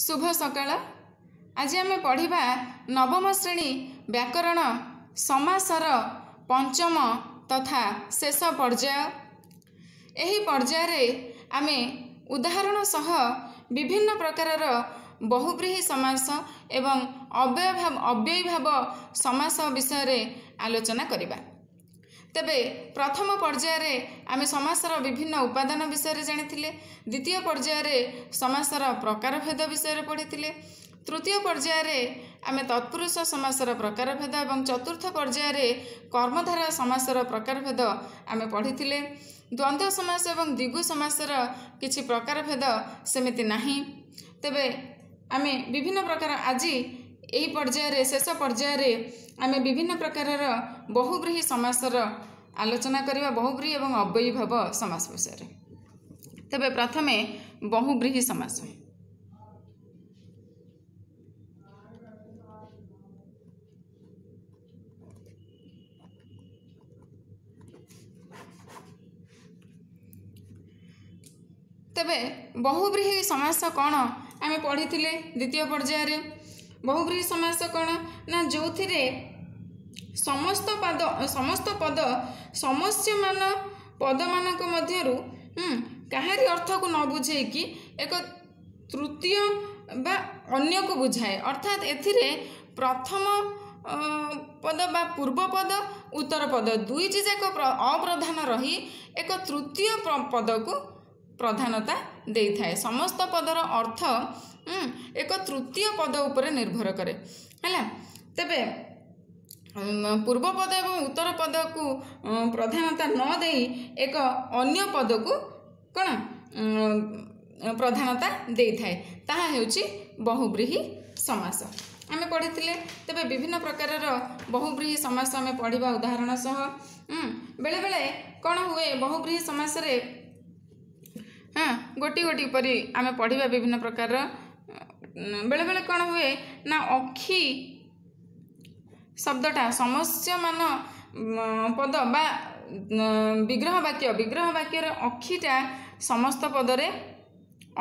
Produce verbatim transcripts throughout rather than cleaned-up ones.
ଶୁଭ ସକାଳ। ଆଜି ଆମେ ପଢ଼ିବା ନବମ ଶ୍ରେଣୀ ବ୍ୟାକରଣ ସମାସର ପଞ୍ଚମ ତଥା ଶେଷ ପର୍ଯ୍ୟାୟ। ଏହି ପର୍ଯ୍ୟାୟରେ ଆମେ ଉଦାହରଣ ସହ ବିଭିନ୍ନ ପ୍ରକାରର ବହୁବ୍ରୀହି ସମାସ ଏବଂ ଅବ୍ୟୟଭାବ ଅବ୍ୟୟୀଭାବ ସମାସ ବିଷୟରେ ଆଲୋଚନା କରିବା। ତେବେ ପ୍ରଥମ ପର୍ଯ୍ୟାୟରେ ଆମେ ସମାସର ବିଭିନ୍ନ ଉପାଦାନ ବିଷୟରେ ଜାଣିଥିଲେ, ଦ୍ୱିତୀୟ ପର୍ଯ୍ୟାୟରେ ସମାସର ପ୍ରକାରଭେଦ ବିଷୟରେ ପଢ଼ିଥିଲେ, ତୃତୀୟ ପର୍ଯ୍ୟାୟରେ ଆମେ ତତ୍ପୁରୁଷ ସମାସର ପ୍ରକାରଭେଦ ଏବଂ ଚତୁର୍ଥ ପର୍ଯ୍ୟାୟରେ କର୍ମଧାରୟ ସମାସର ପ୍ରକାରଭେଦ ଆମେ ପଢ଼ିଥିଲେ। ଦ୍ୱନ୍ଦ୍ୱ ସମାସ ଏବଂ ଦ୍ୱିଗୁ ସମାସର କିଛି ପ୍ରକାରଭେଦ ସେମିତି ନାହିଁ। ତେବେ ଆମେ ବିଭିନ୍ନ ପ୍ରକାର ଆଜି ଏହି ପର୍ଯ୍ୟାୟରେ ଶେଷ ପର୍ଯ୍ୟାୟରେ ଆମେ ବିଭିନ୍ନ ପ୍ରକାରର ବହୁବ୍ରୀହି ସମାସର ଆଲୋଚନା କରିବା, ବହୁବ୍ରୀହି ଏବଂ ଅବ୍ୟୟୀଭାବ ସମାସ ବିଷୟରେ। ତେବେ ପ୍ରଥମେ ବହୁବ୍ରୀହି ସମାସ। ତେବେ ବହୁବ୍ରୀହି ସମାସ କ'ଣ ଆମେ ପଢ଼ିଥିଲେ ଦ୍ୱିତୀୟ ପର୍ଯ୍ୟାୟରେ। ବହୁବ୍ରୀହି ସମାସ କ'ଣ ନା ଯେଉଁଥିରେ ସମସ୍ତ ପାଦ ସମସ୍ତ ପଦ ସମସ୍ୟମାନ ପଦମାନଙ୍କ ମଧ୍ୟରୁ କାହାରି ଅର୍ଥକୁ ନ ବୁଝେଇକି ଏକ ତୃତୀୟ ବା ଅନ୍ୟକୁ ବୁଝାଏ। ଅର୍ଥାତ୍ ଏଥିରେ ପ୍ରଥମ ପଦ ବା ପୂର୍ବ ପଦ ଉତ୍ତର ପଦ ଦୁଇଟି ଯାକ ଅପ୍ରଧାନ ରହି ଏକ ତୃତୀୟ ପଦକୁ ପ୍ରଧାନତା ଦେଇଥାଏ। ସମସ୍ତ ପଦର ଅର୍ଥ ଏକ ତୃତୀୟ ପଦ ଉପରେ ନିର୍ଭର କରେ। ହେଲା, ତେବେ ପୂର୍ବ ପଦ ଏବଂ ଉତ୍ତର ପଦକୁ ପ୍ରଧାନତା ନ ଦେଇ ଏକ ଅନ୍ୟ ପଦକୁ କ'ଣ ପ୍ରଧାନତା ଦେଇଥାଏ, ତାହା ହେଉଛି ବହୁବ୍ରୀହି ସମାସ। ଆମେ ପଢ଼ିଥିଲେ। ତେବେ ବିଭିନ୍ନ ପ୍ରକାରର ବହୁବ୍ରୀହି ସମାସ ଆମେ ପଢ଼ିବା ଉଦାହରଣ ସହ। ବେଳେବେଳେ କ'ଣ ହୁଏ ବହୁବ୍ରୀହି ସମାସରେ, ହଁ, ଗୋଟି ଗୋଟି ପରି ଆମେ ପଢ଼ିବା ବିଭିନ୍ନ ପ୍ରକାରର। ବେଳେବେଳେ କ'ଣ ହୁଏ ନା ଅକ୍ଷି ଶବ୍ଦଟା ସମସ୍ୟମାନ ପଦ ବା ବିଗ୍ରହ ବାକ୍ୟ ବିଗ୍ରହ ବାକ୍ୟର ଅକ୍ଷିଟା ସମସ୍ତ ପଦରେ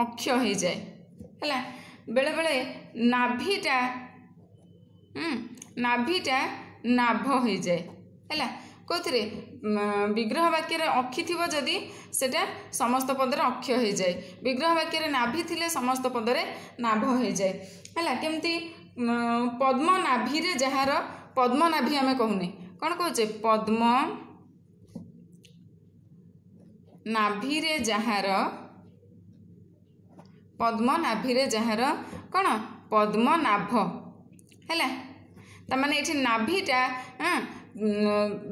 ଅକ୍ଷ ହେଇଯାଏ। ହେଲା, ବେଳେବେଳେ ନାଭିଟା ନାଭିଟା ନାଭ ହେଇଯାଏ। ହେଲା, କେଉଁଥିରେ ବିଗ୍ରହ ବାକ୍ୟରେ ଅକ୍ଷି ଥିବ ଯଦି ସେଟା ସମସ୍ତ ପଦରେ ଅକ୍ଷ ହେଇଯାଏ, ବିଗ୍ରହ ବାକ୍ୟରେ ନାଭି ଥିଲେ ସମସ୍ତ ପଦରେ ନାଭ ହେଇଯାଏ। ହେଲା, କେମିତି ପଦ୍ମ ନାଭିରେ ଯାହାର ପଦ୍ମ ନାଭି ଆମେ କହୁନେ, କ'ଣ କହୁଛେ? ପଦ୍ମ ନାଭିରେ ଯାହାର, ପଦ୍ମ ନାଭିରେ ଯାହାର କ'ଣ ପଦ୍ମନାଭ। ହେଲା, ତାମାନେ ଏଠି ନାଭିଟା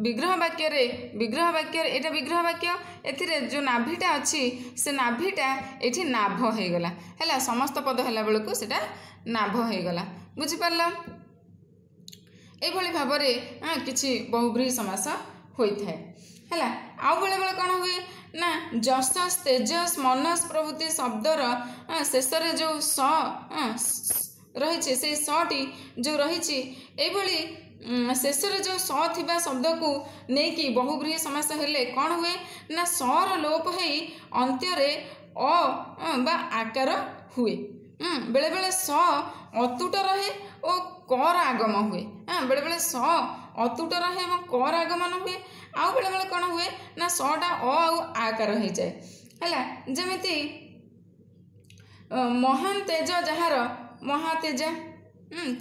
ବିଗ୍ରହ ବାକ୍ୟରେ ବିଗ୍ରହ ବାକ୍ୟରେ ଏଇଟା ବିଗ୍ରହ ବାକ୍ୟ, ଏଥିରେ ଯେଉଁ ନାଭିଟା ଅଛି ସେ ନାଭିଟା ଏଠି ନାଭ ହେଇଗଲା। ହେଲା, ସମସ୍ତ ପଦ ହେଲା ବେଳକୁ ସେଇଟା ନାଭ ହେଇଗଲା। ବୁଝିପାରିଲ? ଏଇଭଳି ଭାବରେ କିଛି ବହୁବ୍ରୀହି ସମାସ ହୋଇଥାଏ। ହେଲା, ଆଉ ବେଳେବେଳେ କ'ଣ ହୁଏ ନା ଯଶସ୍, ତେଜସ୍, ମନସ୍ ପ୍ରଭୃତି ଶବ୍ଦର ଶେଷରେ ଯେଉଁ ସ ରହିଛି, ସେଇ ସଟି ଯେଉଁ ରହିଛି, ଏଇଭଳି ଶେଷରେ ଯେଉଁ ସ ଥିବା ଶବ୍ଦକୁ ନେଇକି ବହୁବ୍ରୀହି ସମାସ ହେଲେ କ'ଣ ହୁଏ ନା ସର ଲୋପ ହେଇ ଅନ୍ତ୍ୟରେ ଅ ବା ଆକାର ହୁଏ। ବେଳେବେଳେ ସ ଅତୁଟ ରହେ ଓ କର ଆଗମ ହୁଏ। ବେଳେବେଳେ ସ ଅତୁଟ ରହେ ଏବଂ କର ଆଗମନ ହୁଏ। ଆଉ ବେଳେବେଳେ କ'ଣ ହୁଏ ନା ସଟା ଅ ଆଉ ଆକାର ହେଇଯାଏ। ହେଲା, ଯେମିତି ମହାନ ତେଜ ଯାହାର ମହାତେଜା,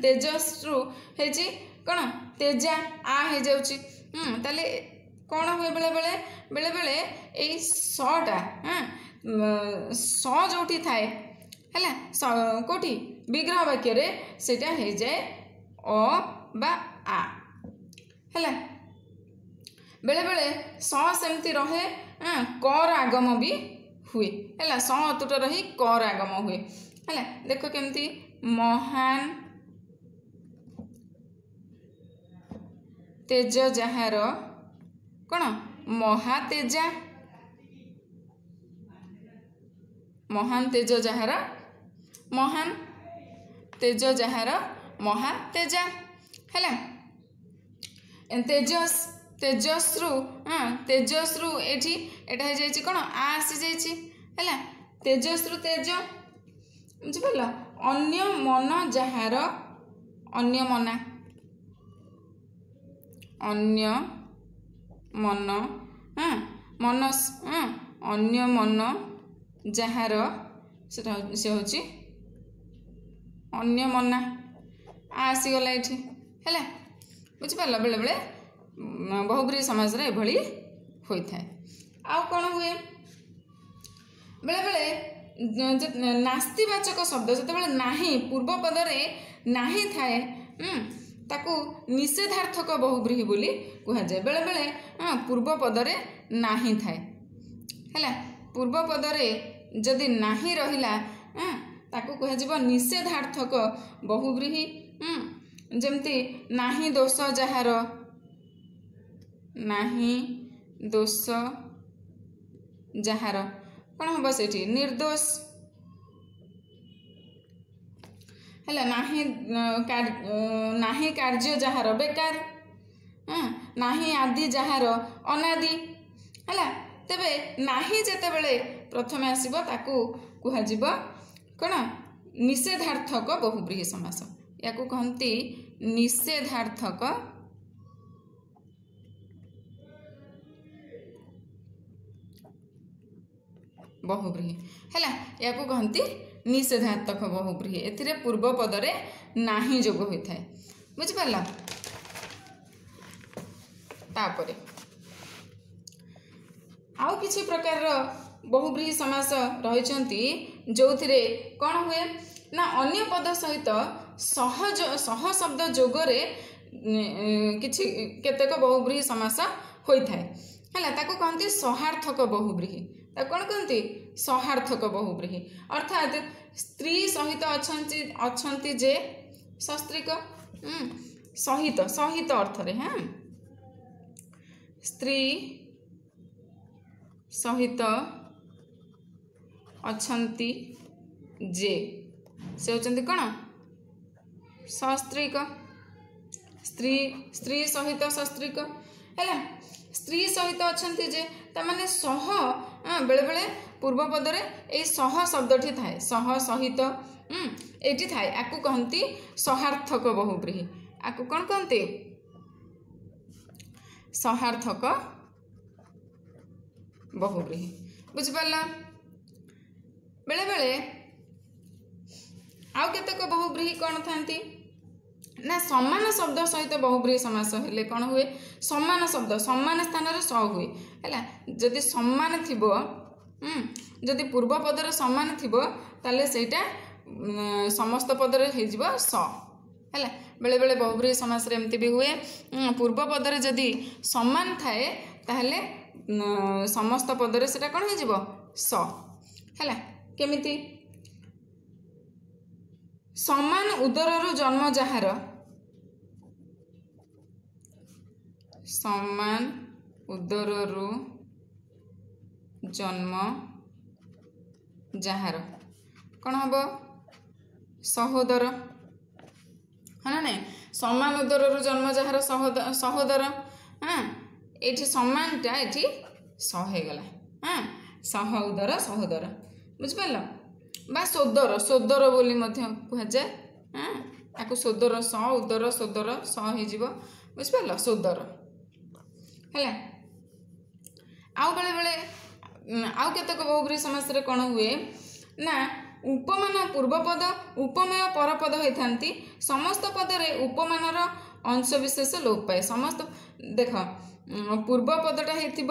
ତେଜସ୍ରୁ ହେଇଛି କ'ଣ ତେଜା, ଆ ହେଇଯାଉଛି। ତାହେଲେ କ'ଣ ହୁଏ ବେଳେବେଳେ ବେଳେବେଳେ ଏଇ ସଟା ସ ଯେଉଁଠି ଥାଏ, ହେଲା, କେଉଁଠି ବିଗ୍ରହ ବାକ୍ୟରେ ସେଇଟା ହେଇଯାଏ ଅ ବା ଆ। ହେଲା, ବେଳେବେଳେ ସ ସେମିତି ରହେ, କର ଆଗମ ବି ହୁଏ। ହେଲା, ସ ଅତୁଟ ରହି କର ଆଗମ ହୁଏ। ହେଲା, ଦେଖ କେମିତି ମହାନ ତେଜ ଯାହାର କ'ଣ ମହାତେଜା, ମହାନ ତେଜ ଯାହାର ମହାନ ତେଜ ଯାହାର ମହାତେଜା। ହେଲା, ତେଜସ୍ ତେଜସ୍ରୁ ହଁ ତେଜସ୍ରୁ ଏଇଠି ଏଇଟା ହେଇଯାଇଛି କ'ଣ ଆ ଆସିଯାଇଛି। ହେଲା, ତେଜସ୍ରୁ ତେଜ, ବୁଝିପାରିଲ? ଅନ୍ୟ ମନ ଯାହାର ଅନ୍ୟ ମନା, ଅନ୍ୟ ମନ, ହଁ, ମନ, ହଁ, ଅନ୍ୟ ମନ ଯାହାର ସେଟା ସେ ହେଉଛି ଅନ୍ୟ ମନା। ଆସିଗଲା ଏଠି, ହେଲା? ବୁଝିପାରିଲ? ବେଳେବେଳେ ବହୁବ୍ରୀହି ସମାସରେ ଏଭଳି ହୋଇଥାଏ। ଆଉ କ'ଣ ହୁଏ? ବେଳେବେଳେ ନାସ୍ତିବାଚକ ଶବ୍ଦ ଯେତେବେଳେ ନାହିଁ, ପୂର୍ବ ପଦରେ ନାହିଁ ଥାଏ, ତାକୁ ନିଷେଧାର୍ଥକ ବହୁବ୍ରୀହି ବୋଲି କୁହାଯାଏ। ବେଳେବେଳେ ପୂର୍ବ ପଦରେ ନାହିଁ ଥାଏ, ହେଲା? ପୂର୍ବ ପଦରେ ଯଦି ନାହିଁ ରହିଲା, ତାକୁ କୁହାଯିବ ନିଷେଧାର୍ଥକ ବହୁବ୍ରୀହି। ଯେମିତି ନାହିଁ ଦୋଷ ଯାହାର, ନାହିଁ ଦୋଷ ଯାହାର, କ'ଣ ହେବ ସେଇଠି? ନିର୍ଦ୍ଦୋଷ ହେଲା। ନାହିଁ ନାହିଁ କାର୍ଯ୍ୟ ଯାହାର ବେକାର, ନାହିଁ ଆଦି ଯାହାର ଅନାଦି, ହେଲା? ତେବେ ନାହିଁ ଯେତେବେଳେ ପ୍ରଥମେ ଆସିବ, ତାକୁ କୁହାଯିବ କ'ଣ? ନିଷେଧାର୍ଥକ ବହୁବ୍ରୀହି ସମାସ। ୟାକୁ କହନ୍ତି ନିଷେଧାର୍ଥକ ବହୁବ୍ରୀହି, ହେଲା? ୟାକୁ କହନ୍ତି ନିଷେଧାତ୍ମକ ବହୁବ୍ରୀହି। ଏଥିରେ ପୂର୍ବ ପଦରେ ନାହିଁ ଯୋଗ ହୋଇଥାଏ। ବୁଝିପାରିଲ? ତାପରେ ଆଉ କିଛି ପ୍ରକାରର ବହୁବ୍ରୀହି ସମାସ ରହିଛନ୍ତି, ଯେଉଁଥିରେ କ'ଣ ହୁଏ ନା ଅନ୍ୟ ପଦ ସହିତ ସହଜ ସହ ଶବ୍ଦ ଯୋଗରେ କିଛି କେତେକ ବହୁବ୍ରୀହି ସମାସ ହୋଇଥାଏ, ହେଲା? ତାକୁ କହନ୍ତି ସହାର୍ଥକ ବହୁବ୍ରୀହି। ତାକୁ କ'ଣ କହନ୍ତି? ସହାର୍ଥକ ବହୁବ୍ରୀହି। ଅର୍ଥାତ୍ ସ୍ତ୍ରୀ ସହିତ ଅଛନ୍ତି ଅଛନ୍ତି ଯେ ସସ୍ତ୍ରୀକ, ସହିତ ସହିତ ଅର୍ଥରେ, ହଁ, ସ୍ତ୍ରୀ ସହିତ ଅଛନ୍ତି ଯେ ସେ ହେଉଛନ୍ତି କ'ଣ? ସସ୍ତ୍ରୀକ। ସ୍ତ୍ରୀ ସ୍ତ୍ରୀ ସହିତ ସସ୍ତ୍ରୀକ, ହେଲା? ସ୍ତ୍ରୀ ସହିତ ଅଛନ୍ତି ଯେ, ତାମାନେ ସହ। ବେଳେବେଳେ ପୂର୍ବ ପଦରେ ଏଇ ସହ ଶବ୍ଦଟି ଥାଏ, ସହ, ସହିତ ଏଇଠି ଥାଏ। ଆକୁ କହନ୍ତି ସହାର୍ଥକ ବହୁବ୍ରୀହି। ଆକୁ କ'ଣ କହନ୍ତି? ସହାର୍ଥକ ବହୁବ୍ରୀହି। ବୁଝିପାରିଲ? ବେଳେବେଳେ ଆଉ କେତେକ ବହୁବ୍ରୀହି କ'ଣ ଥାନ୍ତି ନା ସମାନ ଶବ୍ଦ ସହିତ ବହୁବ୍ରୀହି ସମାସ ହେଲେ କ'ଣ ହୁଏ? ସମାନ ଶବ୍ଦ, ସମାନ ସ୍ଥାନରେ ସ ହୁଏ, ହେଲା? ଯଦି ସମାନ ଥିବ, ଯଦି ପୂର୍ବ ପଦରେ ସମାନ ଥିବ, ତାହେଲେ ସେଇଟା ସମସ୍ତ ପଦରେ ହେଇଯିବ ସ, ହେଲା? ବେଳେବେଳେ ବହୁବ୍ରୀହି ସମାସରେ ଏମିତି ବି ହୁଏ, ପୂର୍ବ ପଦରେ ଯଦି ସମାନ ଥାଏ ତାହେଲେ ସମସ୍ତ ପଦରେ ସେଟା କ'ଣ ହେଇଯିବ? ସ, ହେଲା? କେମିତି? ସମାନ ଉଦରରୁ ଜନ୍ମ ଯାହାର, ସମାନ ଉଦରରୁ ଜନ୍ମ ଯାହାର, କ'ଣ ହେବ? ସହୋଦର, ହଁ ନା ନାଇଁ? ସମାନ ଉଦରରୁ ଜନ୍ମ ଯାହାର ସହୋଦର। ହଁ, ଏଇଠି ସମାନଟା ଏଠି ସ ହେଇଗଲା। ହଁ, ସହ ଉଦର, ସହୋଦର। ବୁଝିପାରିଲ? ବା ସୋଦର, ସୋଦର ବୋଲି ମଧ୍ୟ କୁହାଯାଏ। ହଁ, ତାକୁ ସୋଦର, ସ ଉଦର, ସୋଦର, ସ ହେଇଯିବ। ବୁଝିପାରିଲ? ସୋଦର ହେଲା। ଆଉ ବେଳେବେଳେ ଆଉ କେତେକ ବହୁବ୍ରୀହି ସମାସରେ କ'ଣ ହୁଏ ନା ଉପମାନ ପୂର୍ବପଦ, ଉପମେୟ ପରପଦ ହୋଇଥାନ୍ତି। ସମସ୍ତ ପଦରେ ଉପମାନର ଅଂଶବିଶେଷ ଲୋପ ପାଏ। ସମସ୍ତ, ଦେଖ, ପୂର୍ବ ପଦଟା ହେଇଥିବ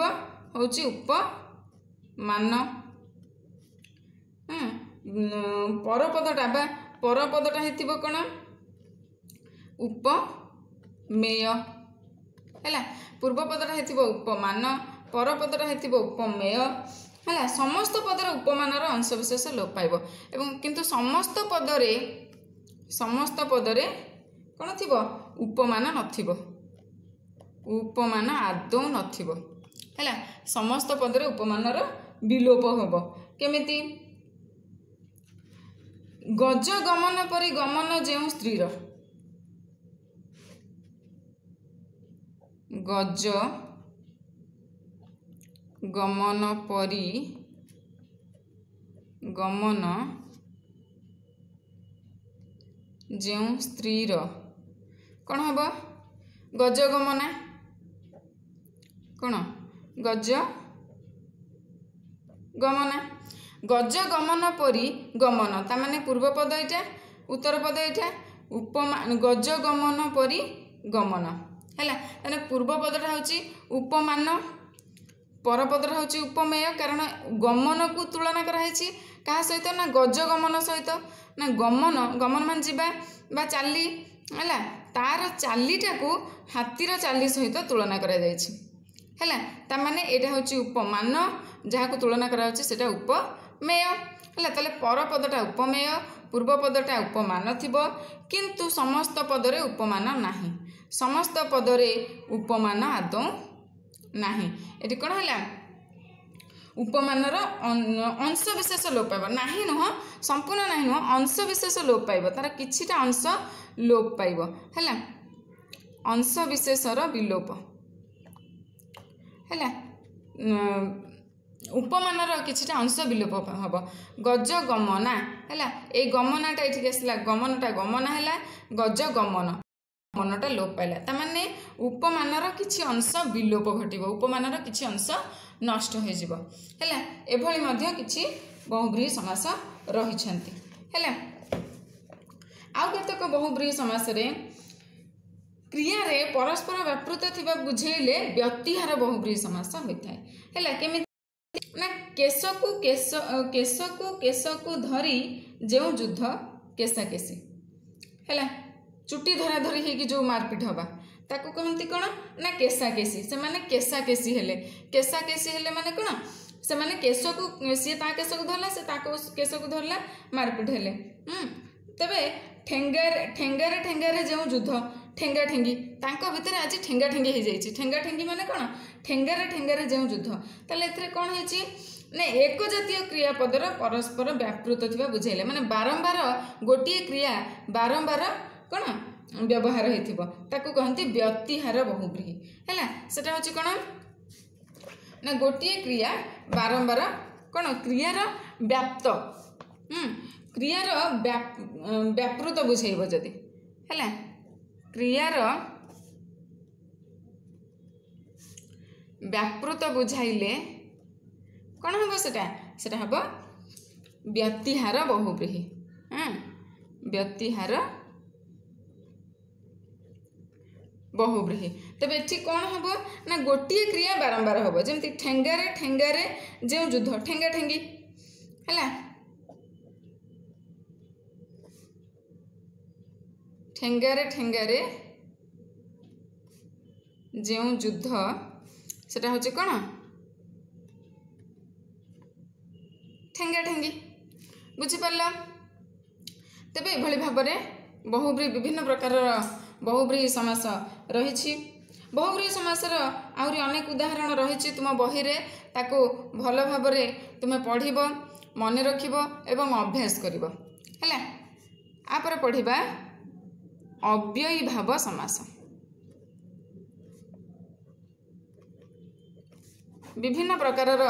ହେଉଛି ଉପମାନ, ପରପଦଟା ବା ପରପଦଟା ହେଇଥିବ କ'ଣ? ଉପମେୟ, ହେଲା? ପୂର୍ବ ପଦଟା ହେଇଥିବ ଉପମାନ, ପରପଦଟା ହେଇଥିବ ଉପମେୟ, ହେଲା? ସମସ୍ତ ପଦରେ ଉପମାନର ଅଂଶବିଶେଷ ଲୋପ ପାଇବ ଏବଂ କିନ୍ତୁ ସମସ୍ତ ପଦରେ ସମସ୍ତ ପଦରେ କ'ଣ ଥିବ? ଉପମାନ ନଥିବ, ଉପମାନ ଆଦୌ ନଥିବ, ହେଲା? ସମସ୍ତ ପଦରେ ଉପମାନର ବିଲୋପ ହେବ। କେମିତି? ଗଜ ଗମନ ପରି ଗମନ ଯେଉଁ ସ୍ତ୍ରୀର, ଗଜ ଗମନ ପରି ଗମନ ଯେଉଁ ସ୍ତ୍ରୀର କ'ଣ ହେବ ଗଜଗମନା କ'ଣ ଗଜ ଗମନା ଗଜଗମନ ପରି ଗମନ ତାମାନେ ପୂର୍ବପଦ ଏଇଟା ଉତ୍ତର ପଦ ଏଇଟା ଉପମା ଗଜଗମନ ପରି ଗମନ ହେଲା ତାହେଲେ ପୂର୍ବ ପଦଟା ହେଉଛି ଉପମାନ ପରପଦଟା ହେଉଛି ଉପମେୟ କାରଣ ଗମନକୁ ତୁଳନା କରାହେଇଛି କାହା ସହିତ ନା ଗଜଗମନ ସହିତ ନା ଗମନ ଗମନ ମାନେ ଯିବା ବା ଚାଲି ହେଲା ତାର ଚାଲିଟାକୁ ହାତୀର ଚାଲି ସହିତ ତୁଳନା କରାଯାଇଛି ହେଲା ତାମାନେ ଏଇଟା ହେଉଛି ଉପମାନ ଯାହାକୁ ତୁଳନା କରାଯାଉଛି ସେଇଟା ଉପମେୟ ହେଲା ତାହେଲେ ପରପଦଟା ଉପମେୟ ପୂର୍ବ ପଦଟା ଉପମାନ ଥିବ କିନ୍ତୁ ସମସ୍ତ ପଦରେ ଉପମାନ ନାହିଁ ସମସ୍ତ ପଦରେ ଉପମାନ ଆଦୌ ନାହିଁ ଏଠି କ'ଣ ହେଲା ଉପମାନର ଅଂଶ ବିଶେଷ ଲୋପ ପାଇବ ନାହିଁ ନୁହଁ ସମ୍ପୂର୍ଣ୍ଣ ନାହିଁ ନୁହଁ ଅଂଶ ବିଶେଷ ଲୋପ ପାଇବ ତାର କିଛିଟା ଅଂଶ ଲୋପ ପାଇବ ହେଲା ଅଂଶ ବିଶେଷର ବିଲୋପ ହେଲା ଉପମାନର କିଛିଟା ଅଂଶ ବିଲୋପ ହେବ ଗଜ ଗମନା ହେଲା ଏଇ ଗମନାଟା ଏଠିକି ଆସିଲା ଗମନଟା ଗମନା ହେଲା ଗଜ ଗମନ ଗମନଟା ଲୋପ ପାଇଲା ତାମାନେ ଉପମାନର କିଛି ଅଂଶ ବିଲୋପ ଘଟିବ ଉପମାନର କିଛି ଅଂଶ ନଷ୍ଟ ହୋଇଯିବ ହେଲା ଏଭଳି ମଧ୍ୟ କିଛି ବହୁବ୍ରୀହି ସମାସ ରହିଛନ୍ତି ହେଲା ଆଉ କେତେକ ବହୁବ୍ରୀହି ସମାସରେ କ୍ରିୟାରେ ପରସ୍ପର ବ୍ୟାପୃତ ଥିବା ବୁଝେଇଲେ ବ୍ୟତିହାର ବହୁବ୍ରୀହି ସମାସ ହୋଇଥାଏ ହେଲା କେମିତି ନା କେଶକୁ କେଶ କେଶକୁ କେଶକୁ ଧରି ଯେଉଁ ଯୁଦ୍ଧ କେଶାକେଶି ହେଲା ଚୁଟି ଧରା ଧରି ହେଇକି ଯେଉଁ ମାରପିଟ ହବା ତାକୁ କହନ୍ତି କ'ଣ ନା କେଶାକେଶି ସେମାନେ କେଶାକେଶି ହେଲେ କେଶାକେଶି ହେଲେ ମାନେ କ'ଣ ସେମାନେ କେଶକୁ ସିଏ ତା କେଶକୁ ଧରିଲା ସେ ତାକୁ କେଶକୁ ଧରିଲା ମାରପିଟ ହେଲେ ତେବେ ଠେଙ୍ଗାରେ ଠେଙ୍ଗାରେ ଠେଙ୍ଗାରେ ଯେଉଁ ଯୁଦ୍ଧ ଠେଙ୍ଗା ଠେଙ୍ଗି ତାଙ୍କ ଭିତରେ ଆଜି ଠେଙ୍ଗା ଠେଙ୍ଗି ହେଇଯାଇଛି ଠେଙ୍ଗା ଠେଙ୍ଗି ମାନେ କ'ଣ ଠେଙ୍ଗାରେ ଠେଙ୍ଗାରେ ଯେଉଁ ଯୁଦ୍ଧ ତାହେଲେ ଏଥିରେ କ'ଣ ହେଇଛି ନା ଏକ ଜାତୀୟ କ୍ରିୟାପଦର ପରସ୍ପର ବ୍ୟାପୃତ ଥିବା ବୁଝାଇଲେ ମାନେ ବାରମ୍ବାର ଗୋଟିଏ କ୍ରିୟା ବାରମ୍ବାର କ'ଣ ବ୍ୟବହାର ହେଇଥିବ ତାକୁ କହନ୍ତି ବ୍ୟତିହାର ବହୁବ୍ରୀହି ହେଲା ସେଟା ହେଉଛି କ'ଣ ନା ଗୋଟିଏ କ୍ରିୟା ବାରମ୍ବାର କ'ଣ କ୍ରିୟାର ବ୍ୟାପ୍ତ କ୍ରିୟାର ବ୍ୟାପୃତ ବୁଝେଇବ ଯଦି ହେଲା କ୍ରିୟାର ବ୍ୟାପୃତ ବୁଝାଇଲେ କ'ଣ ହେବ ସେଟା ସେଟା ହେବ ବ୍ୟତିହାର ବହୁବ୍ରୀହି ହଁ ବ୍ୟତିହାର ବହୁବ୍ରୀହି ତେବେ ଏଠି କ'ଣ ହେବ ନା ଗୋଟିଏ କ୍ରିୟା ବାରମ୍ବାର ହେବ ଯେମିତି ଠେଙ୍ଗାରେ ଠେଙ୍ଗାରେ ଯେଉଁ ଯୁଦ୍ଧ ଠେଙ୍ଗା ଠେଙ୍ଗି ହେଲା ଠେଙ୍ଗାରେ ଠେଙ୍ଗାରେ ଯେଉଁ ଯୁଦ୍ଧ ସେଟା ହେଉଛି କ'ଣ ଠେଙ୍ଗା ଠେଙ୍ଗି ବୁଝିପାରିଲ ତେବେ ଏଭଳି ଭାବରେ ବହୁବ୍ରୀହି ବିଭିନ୍ନ ପ୍ରକାରର ବହୁବ୍ରୀହି ସମାସ ରହିଛି ବହୁବ୍ରୀହି ସମାସର ଆହୁରି ଅନେକ ଉଦାହରଣ ରହିଛି ତୁମ ବହିରେ ତାକୁ ଭଲ ଭାବରେ ତୁମେ ପଢ଼ିବ ମନେ ରଖିବ ଏବଂ ଅଭ୍ୟାସ କରିବ ହେଲା ଆପରେ ପଢ଼ିବା ଅବ୍ୟୟୀଭାବ ସମାସ ବିଭିନ୍ନ ପ୍ରକାରର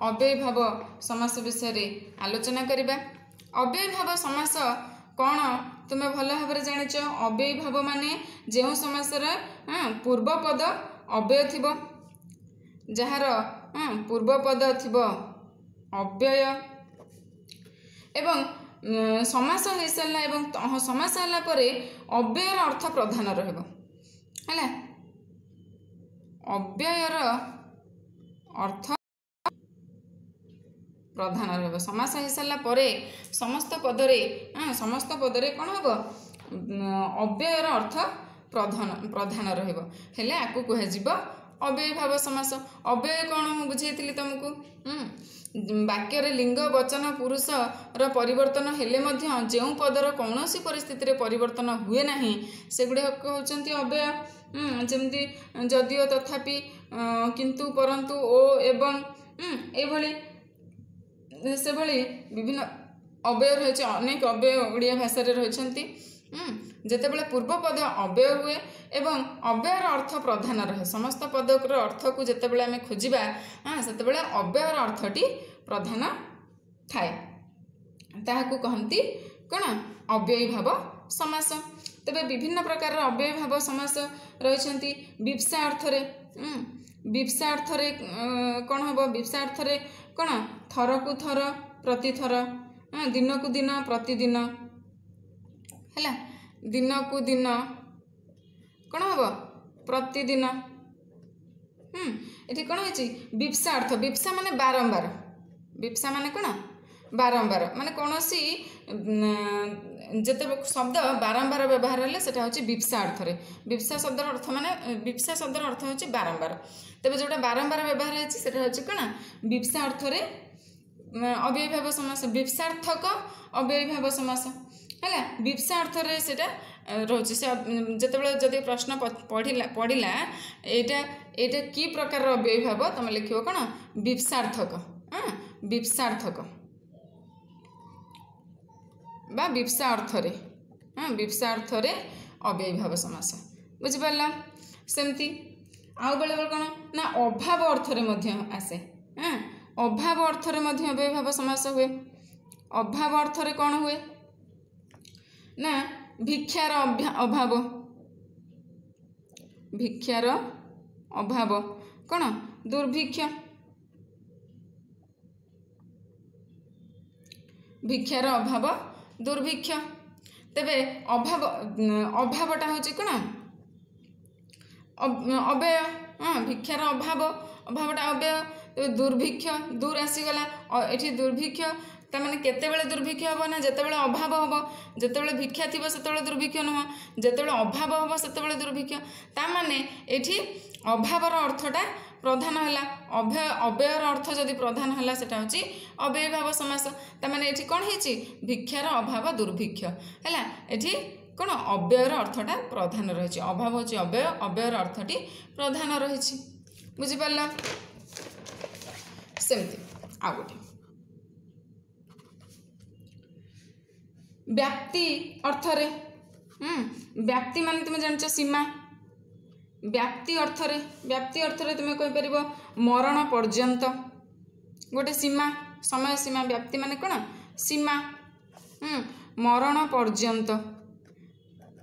ଅବ୍ୟୟୀଭାବ ସମାସ ବିଷୟରେ ଆଲୋଚନା କରିବା ଅବ୍ୟୟୀଭାବ ସମାସ କ'ଣ ତୁମେ ଭଲ ଭାବରେ ଜାଣିଛ ଅବ୍ୟୟୀଭାବ ମାନେ ଯେଉଁ ସମାସର ପୂର୍ବପଦ ଅବ୍ୟୟ ଥିବ ଯାହାର ପୂର୍ବପଦ ଥିବ ଅବ୍ୟୟ ଏବଂ ସମାସ ହେଇସାରିଲା ଏବଂ ସମାସ ହେଲା ପରେ ଅବ୍ୟୟର ଅର୍ଥ ପ୍ରଧାନ ରହିବ ହେଲା ଅବ୍ୟୟର ଅର୍ଥ ପ୍ରଧାନ ରହିବ ସମାସ ହେଇସାରିଲା ପରେ ସମସ୍ତ ପଦରେ ସମସ୍ତ ପଦରେ କ'ଣ ହେବ ଅବ୍ୟୟର ଅର୍ଥ ପ୍ରଧାନ ପ୍ରଧାନ ରହିବ ହେଲେ ଆକୁ କୁହାଯିବ ଅବ୍ୟୟୀଭାବ ସମାସ ଅବ୍ୟୟ କ'ଣ ମୁଁ ବୁଝେଇଥିଲି ତୁମକୁ ବାକ୍ୟରେ ଲିଙ୍ଗ ବଚନ ପୁରୁଷର ପରିବର୍ତ୍ତନ ହେଲେ ମଧ୍ୟ ଯେଉଁ ପଦର କୌଣସି ପରିସ୍ଥିତିରେ ପରିବର୍ତ୍ତନ ହୁଏ ନାହିଁ ସେଗୁଡ଼ିକ ହେଉଛନ୍ତି ଅବ୍ୟୟ ଯେମିତି ଯଦିଓ ତଥାପି କିନ୍ତୁ ପରନ୍ତୁ ଓ ଏବଂ ଏଇଭଳି ସେଭଳି ବିଭିନ୍ନ ଅବ୍ୟୟ ରହିଛି ଅନେକ ଅବ୍ୟୟ ଓଡ଼ିଆ ଭାଷାରେ ରହିଛନ୍ତି ଯେତେବେଳେ ପୂର୍ବପଦ ଅବ୍ୟୟ ହୁଏ ଏବଂ ଅବ୍ୟୟର ଅର୍ଥ ପ୍ରଧାନ ରହେ ସମସ୍ତ ପଦର ଅର୍ଥକୁ ଯେତେବେଳେ ଆମେ ଖୋଜିବା ସେତେବେଳେ ଅବ୍ୟୟର ଅର୍ଥଟି ପ୍ରଧାନ ଥାଏ ତାହାକୁ କହନ୍ତି କ'ଣ ଅବ୍ୟୟୀଭାବ ସମାସ। ତେବେ ବିଭିନ୍ନ ପ୍ରକାରର ଅବ୍ୟୟୀଭାବ ସମାସ ରହିଛନ୍ତି। ବିପ୍ସା ଅର୍ଥରେ, ବିପ୍ସା ଅର୍ଥରେ କ'ଣ ହେବ? ବିପ୍ସା ଅର୍ଥରେ କ'ଣ? ଥରକୁ ଥର, ପ୍ରତିଥର, ଦିନକୁ ଦିନ, ପ୍ରତିଦିନ। ହେଲା, ଦିନକୁ ଦିନ କ'ଣ ହେବ? ପ୍ରତିଦିନ। ହୁଁ ଏଠି କ'ଣ ହେଇଛି? ବିପ୍ସା ଅର୍ଥ, ବିପ୍ସା ମାନେ ବାରମ୍ବାର, ବିପ୍ସା ମାନେ କ'ଣ? ବାରମ୍ବାର, ମାନେ କୌଣସି ଯେତେ ଶବ୍ଦ ବାରମ୍ବାର ବ୍ୟବହାର ହେଲେ ସେଟା ହେଉଛି ବିପ୍ସା ଅର୍ଥରେ। ବିପ୍ସା ଶବ୍ଦର ଅର୍ଥ ମାନେ, ବିପ୍ସା ଶବ୍ଦର ଅର୍ଥ ହେଉଛି ବାରମ୍ବାର। ତେବେ ଯେଉଁଟା ବାରମ୍ବାର ବ୍ୟବହାର ହେଇଛି ସେଟା ହେଉଛି କ'ଣ? ବିପ୍ସା ଅର୍ଥରେ ଅବ୍ୟୟୀଭାବ ସମାସ, ବିପ୍ସାର୍ଥକ ଅବ୍ୟୟୀଭାବ ସମାସ। ହେଲା, ବିପ୍ସା ଅର୍ଥରେ ସେଇଟା ରହୁଛି। ସେ ଯେତେବେଳେ ଯଦି ପ୍ରଶ୍ନ ପଢ଼ିଲା ପଡ଼ିଲା ଏଇଟା ଏଇଟା କି ପ୍ରକାରର ଅବ୍ୟୟୀଭାବ, ତମେ ଲେଖିବ କ'ଣ? ବିପ୍ସାର୍ଥକ, ହଁ, ବିପ୍ସାର୍ଥକ ବା ବିପ୍ସା ଅର୍ଥରେ, ହଁ, ବିପ୍ସା ଅର୍ଥରେ ଅବ୍ୟୟୀଭାବ ସମାସ। ବୁଝିପାରିଲ? ସେମିତି ଆଉ ବେଳେବେଳେ କ'ଣ ନା ଅଭାବ ଅର୍ଥରେ ମଧ୍ୟ ଆସେ। ହଁ, ଅଭାବ ଅର୍ଥରେ ମଧ୍ୟ ଅବ୍ୟୟୀଭାବ ସମାସ ହୁଏ। ଅଭାବ ଅର୍ଥରେ କ'ଣ ହୁଏ ନା ଭିକ୍ଷାର ଅଭାବ, ଭିକ୍ଷାର ଅଭାବ କ'ଣ? ଦୁର୍ଭିକ୍ଷ। ଭିକ୍ଷାର ଅଭାବ ଦୁର୍ଭିକ୍ଷ। ତେବେ ଅଭାବ, ଅଭାବଟା ହେଉଛି କ'ଣ? ଅବ୍ୟୟ। ହଁ, ଭିକ୍ଷାର ଅଭାବ, ଅଭାବଟା ଅବ୍ୟୟ। ତେବେ ଦୁର୍ଭିକ୍ଷ, ଦୂର ଆସିଗଲା ଏଠି ଦୁର୍ଭିକ୍ଷ, ତାମାନେ କେତେବେଳେ ଦୁର୍ଭିକ୍ଷ ହେବ ନା ଯେତେବେଳେ ଅଭାବ ହେବ। ଯେତେବେଳେ ଭିକ୍ଷା ଥିବ ସେତେବେଳେ ଦୁର୍ଭିକ୍ଷ ନୁହଁ, ଯେତେବେଳେ ଅଭାବ ହେବ ସେତେବେଳେ ଦୁର୍ଭିକ୍ଷ। ତାମାନେ ଏଠି ଅଭାବର ଅର୍ଥଟା ପ୍ରଧାନ ହେଲା। ଅଭ୍ୟ ଅବ୍ୟୟର ଅର୍ଥ ଯଦି ପ୍ରଧାନ ହେଲା ସେଟା ହେଉଛି ଅବ୍ୟୟୀଭାବ ସମାସ। ତାମାନେ ଏଠି କ'ଣ ହେଇଛି? ଭିକ୍ଷାର ଅଭାବ ଦୁର୍ଭିକ୍ଷ ହେଲା। ଏଠି କ'ଣ ଅବ୍ୟୟର ଅର୍ଥଟା ପ୍ରଧାନ ରହିଛି। ଅଭାବ ହେଉଛି ଅବ୍ୟୟ, ଅବ୍ୟୟର ଅର୍ଥଟି ପ୍ରଧାନ ରହିଛି। ବୁଝିପାରିଲ? ସେମିତି ଆଉ ଗୋଟେ ବ୍ୟାପ୍ତି ଅର୍ଥରେ। ହୁଁ ବ୍ୟାପ୍ତି ମାନେ ତୁମେ ଜାଣିଛ ସୀମା। ବ୍ୟାପ୍ତି ଅର୍ଥରେ, ବ୍ୟାପ୍ତି ଅର୍ଥରେ ତୁମେ କହିପାରିବ ମରଣ ପର୍ଯ୍ୟନ୍ତ, ଗୋଟେ ସୀମା, ସମୟ ସୀମା। ବ୍ୟାପ୍ତି ମାନେ କ'ଣ? ସୀମା। ହୁଁ ମରଣ ପର୍ଯ୍ୟନ୍ତ,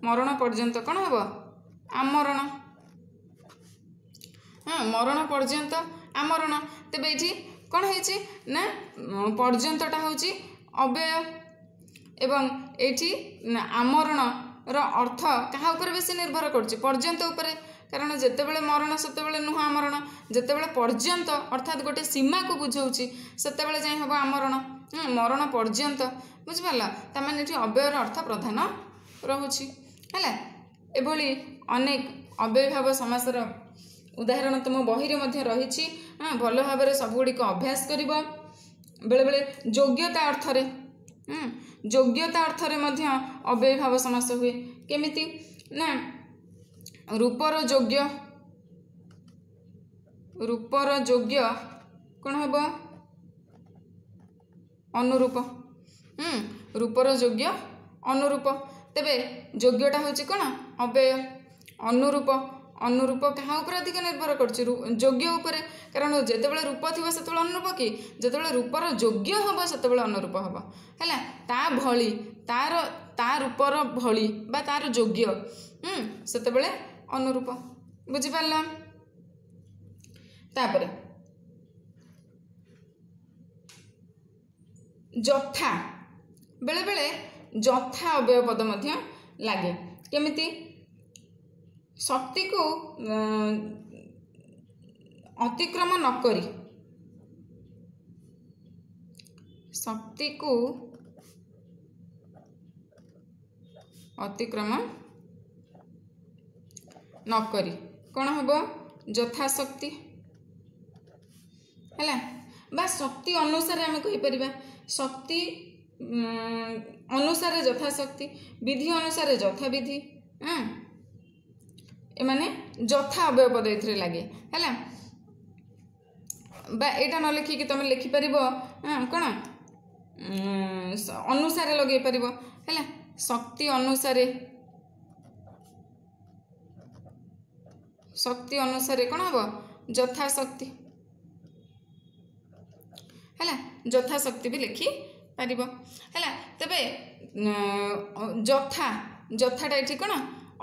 ମରଣ ପର୍ଯ୍ୟନ୍ତ କ'ଣ ହେବ? ଆମରଣ। ହଁ, ମରଣ ପର୍ଯ୍ୟନ୍ତ ଆମରଣ। ତେବେ ଏଇଠି କ'ଣ ହେଇଛି ନା ପର୍ଯ୍ୟନ୍ତଟା ହେଉଛି ଅବ୍ୟୟ, ଏବଂ ଏଇଠି ଆମରଣର ଅର୍ଥ କାହା ଉପରେ ବେଶୀ ନିର୍ଭର କରୁଛି? ପର୍ଯ୍ୟନ୍ତ ଉପରେ। କାରଣ ଯେତେବେଳେ ମରଣ ସେତେବେଳେ ନୁହଁ ଆମରଣ, ଯେତେବେଳେ ପର୍ଯ୍ୟନ୍ତ ଅର୍ଥାତ୍ ଗୋଟେ ସୀମାକୁ ବୁଝାଉଛି ସେତେବେଳେ ଯାଇ ହେବ ଆମରଣ। ମରଣ ପର୍ଯ୍ୟନ୍ତ, ବୁଝିପାରିଲ? ତାମାନେ ଏଠି ଅବ୍ୟୟର ଅର୍ଥ ପ୍ରଧାନ ରହୁଛି। ହେଲା, ଏଭଳି ଅନେକ ଅବ୍ୟୟୀଭାବ ସମାସର ଉଦାହରଣ ତୁମ ବହିରେ ମଧ୍ୟ ରହିଛି। ହଁ, ଭଲ ଭାବରେ ସବୁଗୁଡ଼ିକ ଅଭ୍ୟାସ କରିବ। ବେଳେବେଳେ ଯୋଗ୍ୟତା ଅର୍ଥରେ, ଯୋଗ୍ୟତା ଅର୍ଥରେ ମଧ୍ୟ ଅବ୍ୟୟୀଭାବ ସମାସ ହୁଏ। କେମିତି ନା ରୂପର ଯୋଗ୍ୟ, ରୂପର ଯୋଗ୍ୟ କ'ଣ ହେବ? ଅନୁରୂପ। ହୁଁ ରୂପର ଯୋଗ୍ୟ ଅନୁରୂପ। ତେବେ ଯୋଗ୍ୟଟା ହେଉଛି କ'ଣ? ଅବ୍ୟୟ। ଅନୁରୂପ, ଅନୁରୂପ କାହା ଉପରେ ଅଧିକ ନିର୍ଭର କରୁଛି? ଯୋଗ୍ୟ ଉପରେ। କାରଣ ଯେତେବେଳେ ରୂପ ଥିବ ସେତେବେଳେ ଅନୁରୂପ କି? ଯେତେବେଳେ ରୂପର ଯୋଗ୍ୟ ହେବ ସେତେବେଳେ ଅନୁରୂପ ହେବ। ହେଲା, ତା ଭଳି, ତାର ତା ରୂପର ଭଳି ବା ତାର ଯୋଗ୍ୟ, ହୁଁ ସେତେବେଳେ ଅନୁରୂପ। ବୁଝିପାରିଲ? ତାପରେ ଯଥା, ବେଳେବେଳେ ଯଥା ଅବ୍ୟୟ ପଦ ମଧ୍ୟ ଲାଗେ। କେମିତି? ଶକ୍ତିକୁ ଅତିକ୍ରମ ନ କରି, ଶକ୍ତିକୁ ଅତିକ୍ରମ ନ କରି କ'ଣ ହେବ? ଯଥାଶକ୍ତି। ହେଲା, ବା ଶକ୍ତି ଅନୁସାରେ ଆମେ କହିପାରିବା। ଶକ୍ତି ଅନୁସାରେ ଯଥାଶକ୍ତି, ବିଧି ଅନୁସାରେ ଯଥାବିଧି। ହଁ, ଏମାନେ ଯଥା ଅବ୍ୟୟ ପଦ ଏଥିରେ ଲାଗେ। ହେଲା, ବା ଏଇଟା ନ ଲେଖିକି ତୁମେ ଲେଖିପାରିବ କ'ଣ? ଅନୁସାରେ ଲଗେଇ ପାରିବ। ହେଲା, ଶକ୍ତି ଅନୁସାରେ, ଶକ୍ତି ଅନୁସାରେ କ'ଣ ହେବ? ଯଥାଶକ୍ତି। ହେଲା, ଯଥାଶକ୍ତି ବି ଲେଖିପାରିବ। ପାରିବ। ହେଲା, ତେବେ ଯଥା, ଯଥାଟା ଏଠି କ'ଣ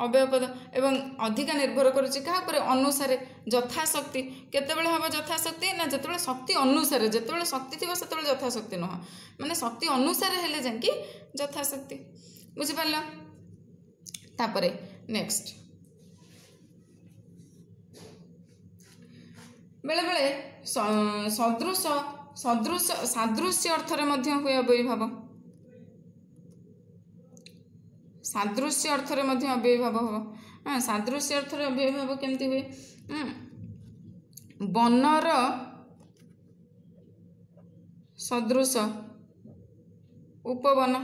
ଅବ୍ୟୟ ପଦ ଏବଂ ଅଧିକା ନିର୍ଭର କରୁଛି କାହା ଉପରେ? ଅନୁସାରେ। ଯଥାଶକ୍ତି କେତେବେଳେ ହେବ ଯଥାଶକ୍ତି? ନା ଯେତେବେଳେ ଶକ୍ତି ଅନୁସାରେ, ଯେତେବେଳେ ଶକ୍ତି ଥିବ ସେତେବେଳେ ଯଥାଶକ୍ତି ନୁହଁ, ମାନେ ଶକ୍ତି ଅନୁସାରେ ହେଲେ ଯାଇକି ଯଥାଶକ୍ତି। ବୁଝିପାରିଲ? ତାପରେ ନେକ୍ସଟ, ବେଳେବେଳେ ସଦୃଶ ସଦୃଶ ସାଦୃଶ୍ୟ ଅର୍ଥରେ ମଧ୍ୟ ହୁଏ ଅବ୍ୟୟୀଭାବ। ସାଦୃଶ୍ୟ ଅର୍ଥରେ ମଧ୍ୟ ଅବ୍ୟୟୀଭାବ ହେବ। ହଁ, ସାଦୃଶ୍ୟ ଅର୍ଥରେ ଅବ୍ୟୟୀଭାବ କେମିତି ହୁଏ? ବନର ସଦୃଶ ଉପବନ,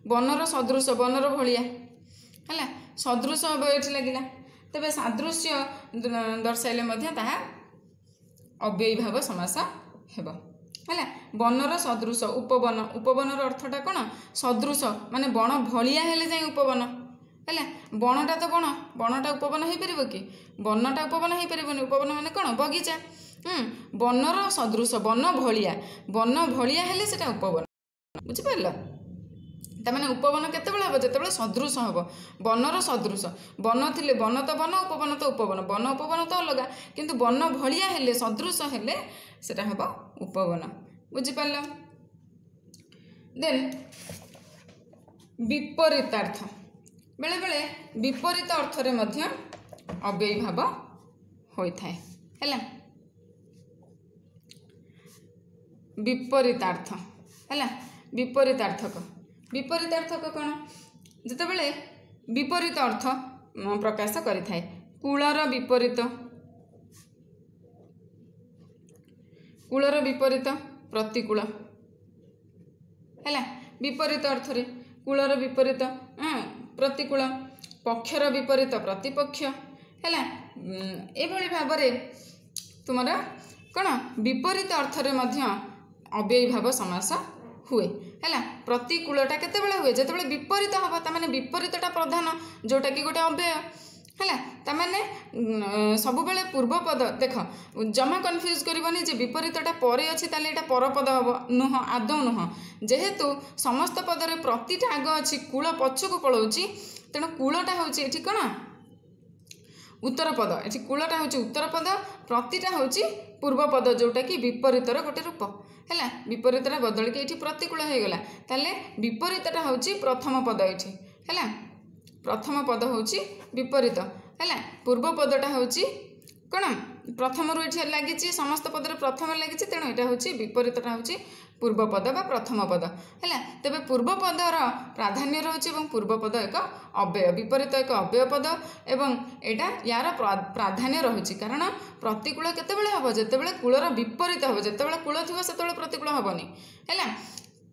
ବନର ସଦୃଶ, ବନର ଭଳିଆ ହେଲା, ସଦୃଶ ଅବ୍ୟୟ ଏଠି ଲାଗିଲା। ତେବେ ସାଦୃଶ୍ୟ ଦର୍ଶାଇଲେ ମଧ୍ୟ ତାହା ଅବ୍ୟୟୀଭାବ ସମାସ ହେବ। ହେଲା, ବନର ସଦୃଶ ଉପବନ, ଉପବନର ଅର୍ଥଟା କ'ଣ? ସଦୃଶ ମାନେ ବଣ ଭଳିଆ ହେଲେ ଯାଇ ଉପବନ। ହେଲା, ବଣଟା ତ ବଣ, ବଣଟା ଉପବନ ହେଇପାରିବ କି? ବନଟା ଉପବନ ହେଇପାରିବନି। ଉପବନ ମାନେ କ'ଣ? ବଗିଚା। ହୁଁ, ବନର ସଦୃଶ, ବନ ଭଳିଆ, ବନ ଭଳିଆ ହେଲେ ସେଟା ଉପବନ। ବୁଝିପାରିଲ? ତାମାନେ ଉପବନ କେତେବେଳେ ହେବ? ଯେତେବେଳେ ସଦୃଶ ହେବ, ବନର ସଦୃଶ। ବନ ଥିଲେ ବନ ତ ବନ, ଉପବନ ତ ଉପବନ, ବନ ଉପବନ ତ ଅଲଗା, କିନ୍ତୁ ବନ ଭଳିଆ ହେଲେ, ସଦୃଶ ହେଲେ ସେଟା ହେବ ଉପବନ। ବୁଝିପାରିଲ? ଦେନ୍ ବିପରୀତାର୍ଥ, ବେଳେବେଳେ ବିପରୀତ ଅର୍ଥରେ ମଧ୍ୟ ଅବ୍ୟୟୀଭାବ ହୋଇଥାଏ। ହେଲା, ବିପରୀତାର୍ଥ ହେଲା, ବିପରୀତାର୍ଥକ, ବିପରୀତାର୍ଥକ କ'ଣ? ଯେତେବେଳେ ବିପରୀତ ଅର୍ଥ ପ୍ରକାଶ କରିଥାଏ। କୂଳର ବିପରୀତ, କୂଳର ବିପରୀତ ପ୍ରତିକୂଳ। ହେଲା, ବିପରୀତ ଅର୍ଥରେ କୂଳର ବିପରୀତ ପ୍ରତିକୂଳ, ପକ୍ଷର ବିପରୀତ ପ୍ରତିପକ୍ଷ। ହେଲା, ଏଭଳି ଭାବରେ ତୁମର କ'ଣ ବିପରୀତ ଅର୍ଥରେ ମଧ୍ୟ ଅବ୍ୟୟୀଭାବ ସମାସ ହୁଏ। ହେଲା, ପ୍ରତିକୂଳଟା କେତେବେଳେ ହୁଏ? ଯେତେବେଳେ ବିପରୀତ ହେବ, ତାମାନେ ବିପରୀତଟା ପ୍ରଧାନ, ଯେଉଁଟାକି ଗୋଟେ ଅବ୍ୟୟ। ହେଲା, ତାମାନେ ସବୁବେଳେ ପୂର୍ବପଦ ଦେଖ, ଜମା କନଫ୍ୟୁଜ୍ କରିବନି ଯେ ବିପରୀତଟା ପରେ ଅଛି ତାହେଲେ ଏଇଟା ପରପଦ ହେବ, ନୁହଁ, ଆଦୌ ନୁହଁ। ଯେହେତୁ ସମସ୍ତ ପଦରେ ପ୍ରତିଟା ଆଗ ଅଛି, କୂଳ ପଛକୁ ପଳାଉଛି, ତେଣୁ କୂଳଟା ହେଉଛି ଏଠି କ'ଣ? ଉତ୍ତର ପଦ। ଏଠି କୂଳଟା ହେଉଛି ଉତ୍ତର ପଦ, ପ୍ରତିଟା ହେଉଛି ପୂର୍ବପଦ, ଯେଉଁଟାକି ବିପରୀତର ଗୋଟେ ରୂପ। ହେଲା, ବିପରୀତଟା ବଦଳିକି ଏଇଠି ପ୍ରତିକୂଳ ହେଇଗଲା। ତାହେଲେ ବିପରୀତଟା ହେଉଛି ପ୍ରଥମ ପଦ ଏଇଠି। ହେଲା, ପ୍ରଥମ ପଦ ହେଉଛି ବିପରୀତ। ହେଲା, ପୂର୍ବ ପଦଟା ହେଉଛି କ'ଣ? ପ୍ରଥମରୁ ଏଠି ଲାଗିଛି, ସମସ୍ତ ପଦରେ ପ୍ରଥମ ଲାଗିଛି, ତେଣୁ ଏଇଟା ହେଉଛି ବିପରୀତଟା ହେଉଛି ପୂର୍ବ ପଦ ବା ପ୍ରଥମ ପଦ। ହେଲା, ତେବେ ପୂର୍ବ ପଦର ପ୍ରାଧାନ୍ୟ ରହୁଛି ଏବଂ ପୂର୍ବ ପଦ ଏକ ଅବ୍ୟୟ, ବିପରୀତ ଏକ ଅବ୍ୟୟ ପଦ ଏବଂ ଏଇଟା ୟାର ପ୍ରାଧାନ୍ୟ ରହୁଛି। କାରଣ ପ୍ରତିକୂଳ କେତେବେଳେ ହେବ? ଯେତେବେଳେ କୂଳର ବିପରୀତ ହେବ। ଯେତେବେଳେ କୂଳ ଥିବ ସେତେବେଳେ ପ୍ରତିକୂଳ ହେବନି। ହେଲା,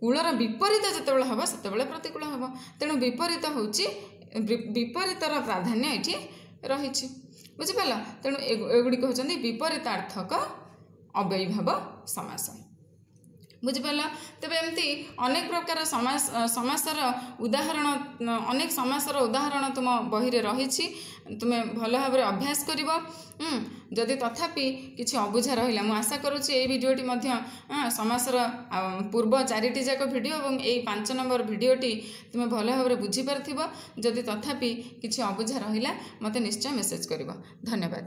କୂଳର ବିପରୀତ ଯେତେବେଳେ ହେବ ସେତେବେଳେ ପ୍ରତିକୂଳ ହେବ। ତେଣୁ ବିପରୀତ ହେଉଛି, ବିପରୀତର ପ୍ରାଧାନ୍ୟ ଏଠି ରହିଛି। ବୁଝିପାରିଲ? ତେଣୁ ଏଗୁଡ଼ିକ ହେଉଛନ୍ତି ବିପରୀତାର୍ଥକ ଅବ୍ୟୟୀଭାବ ସମାସ। ବୁଝିପାରିଲ? ତେବେ ଏମିତି ଅନେକ ପ୍ରକାର ସମାସ, ସମାସର ଉଦାହରଣ, ଅନେକ ସମାସର ଉଦାହରଣ ତୁମ ବହିରେ ରହିଛି। ତୁମେ ଭଲ ଭାବରେ ଅଭ୍ୟାସ କରିବ। ଯଦି ତଥାପି କିଛି ଅବୁଝା ରହିଲା, ମୁଁ ଆଶା କରୁଛି ଏଇ ଭିଡ଼ିଓଟି ମଧ୍ୟ ସମାସର ପୂର୍ବ ଚାରିଟି ଯାକ ଭିଡ଼ିଓ ଏବଂ ଏଇ ପାଞ୍ଚ ନମ୍ବର ଭିଡ଼ିଓଟି ତୁମେ ଭଲ ଭାବରେ ବୁଝିପାରିଥିବ। ଯଦି ତଥାପି କିଛି ଅବୁଝା ରହିଲା ମୋତେ ନିଶ୍ଚୟ ମେସେଜ୍ କରିବ। ଧନ୍ୟବାଦ।